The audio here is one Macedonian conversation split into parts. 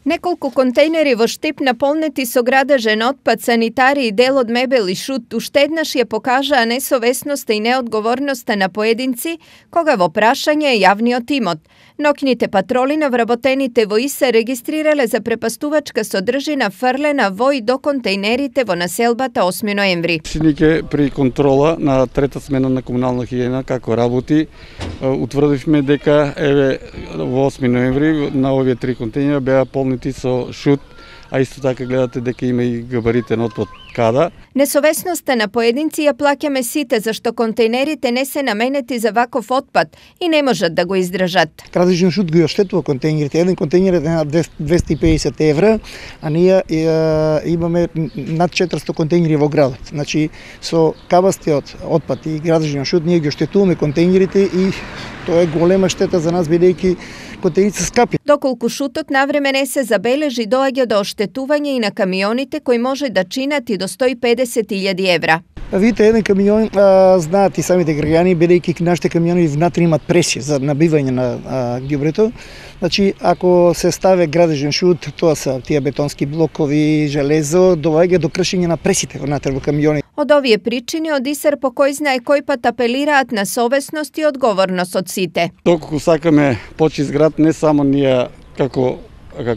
Неколку контейнери во Штип наполнети со градежен отпад, санитари и дел од мебел и шут уште еднаш ја покажаа несовесноста и неодговорноста на поединци кога во прашање е јавниот имот. Ноќните патроли на вработените во ИСЕ регистрирале за препастувачка содржина фрлена во и до контейнерите во населбата 8 ноември. Синике при контрола на трета смена на комунална хигиена како работи, утврдивме дека во 8 ноември на овие три контейнера беа полнити со шут, а исто така гледате дека има и габаритен отпад када. Несовесноста на поединци ја плаќаме сите, зашто контейнерите не се наменети за ваков отпад и не можат да го издржат. Градежен шут го оштетува контейнерите. Еден контейнер е на 250 евра, а ние имаме над 400 контейнери во градот. Значи, со кабастиот отпад и градежен шут ние ги оштетуваме контейнерите и тоа е голема штета за нас, бидејќи контейнерите се скапи. Доколку шутот навреме не се забележи, доаѓа до оштетување и на камионите кои може да чинат и до 150.000 евра. Видите, еден камион, знаат и самите граѓани, бидејќи нашите камиони внатре имат пресија за набивање на ѓубрето. Значи, ако се ставе градежен шут, тоа се тие бетонски блокови, железо, доаѓа до кршење на пресите внатре во камиони. Од овие причини од ИСЕР по кој знае кој пат апелираат на совесност и одговорност од сите. Доколку сакаме почист град, не само ние како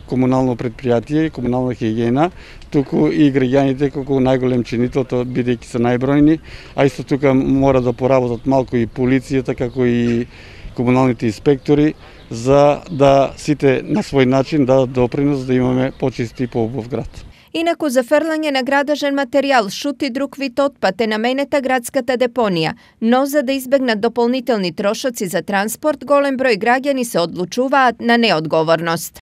комунално предпријатие, комунална хигиена, туку и граѓаните како најголем чинител, бидејќи се најбројни, а исто тука мора да поработат малку и полицијата, како и комуналните инспектори, за да сите на свој начин дадат допринос да имаме почист и поубав град. Инаку за фрлање на градежен материјал, шут и друг вид отпад е наменета градската депонија, но за да избегнат дополнителни трошоци за транспорт, голем број граѓани се одлучуваат на неодговорност.